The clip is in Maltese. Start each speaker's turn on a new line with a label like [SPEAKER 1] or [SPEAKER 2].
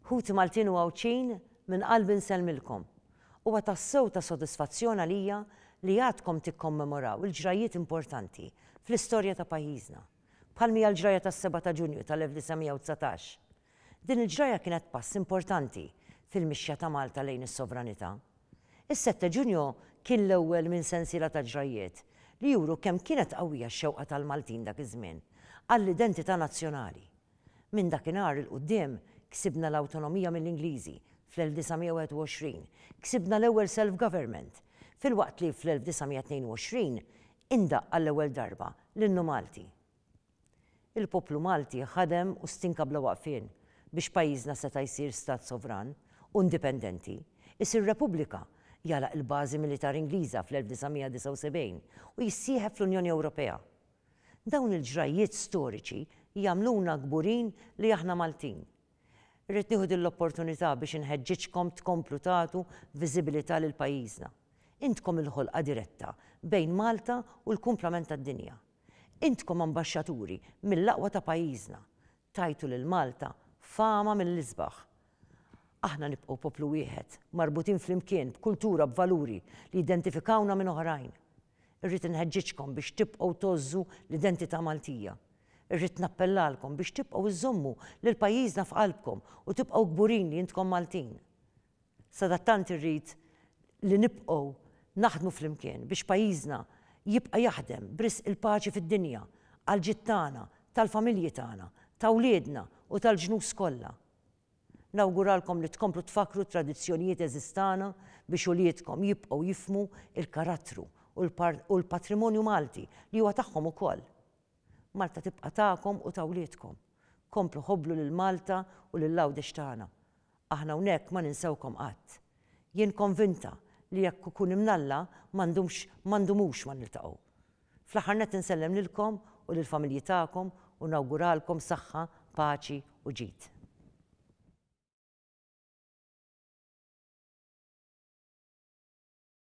[SPEAKER 1] Ħuti Maltin u Għawdxin, minn qalbi nsellmilkom. Huwa tassew ta' sodisfazzjon għalija li għadkom tikkommemoraw il-ġrajjiet importanti fl-istorja ta' pajjiżna, bħal m'hija l-ġrajja tas-sebgħa ta' Ġunju tal-1919. Din il-ġrajja kienet pass importanti fil-mixja ta' Malta lejn is-sovranità. Is-Sette Ġunju kien l-ewwel minn sensiela ta' ġrajjiet li juru kemm kienet qawwija x-xewqa tal-Maltin dak iż-żmien għall-identità nazzjonali. Minn dakinhar 'il quddiem ksibna l-awtonomija mill-Ingliżi fl-1921, ksibna l-ewwel self-government, filwaqt li fl-1922 indaqq għall-ewwel darba l-Innu Malti. Il-poplu Malti ħadem u stinka bla waqfien biex pajjiżna seta' jsir stat sovran u indipendenti, isir Repubblika, jagħlaq il-bażi militari Ingliża fl-1979 u jissieħeb fl-Unjoni Ewropea. Dawn il-ġrajjiet storiċi jagħmluna kburin li aħna Maltin. Irrid nieħu din l-opportunità biex inħeġġiġkom tkomplu tagħtu viżibilità lil pajjiżna. Intkom il-ħolqa diretta bejn Malta u l-kumplament tad-dinja. Intkom ambaxxaturi mill-aqwa ta' pajjiżna. Tajtu lil Malta fama mill-isbaħ. Aħna nibqgħu poplu wieħed, marbutin flimkien b'kultura b'valuri li jidentifikawna minn oħrajn. Irrid inħeġġiġkom biex tibqgħu tgħożżu l-identità Maltija. Irrid nappellalkom biex tibqgħu iżżommu lil pajjiżna f'qalbkom u tibqgħu kburin li intkom Maltin. Sadattant irrid li nibqgħu naħdmu flimkien biex pajjiżna jibqa' jaħdem b'risq il-paċi fid-dinja, għall-ġid tagħna, tal-familji tagħna, ta' wliedna u tal-ġnus kollha. Nawguralkom li tkomplu tfakkru t-tradizzjonijiet għeżież tagħna biex uliedkom jibqgħu jifhmu l-karattru u l-patrimonju Malti li huwa tagħhom ukoll. Malta tibqa' tagħkom u ta' wliedkom. Komplu ħobblu lil Malta u lil Għawdex tagħna. Aħna hawnhekk ma ninsewkom qatt. Jien konvinta li jekk ikun imnalla ma ndumx ma ndumux ma niltaqgħu. Fl-aħħar nett insellem lilkom u lill-familji tagħkom u nawguralkom saħħa, paċi u ġid.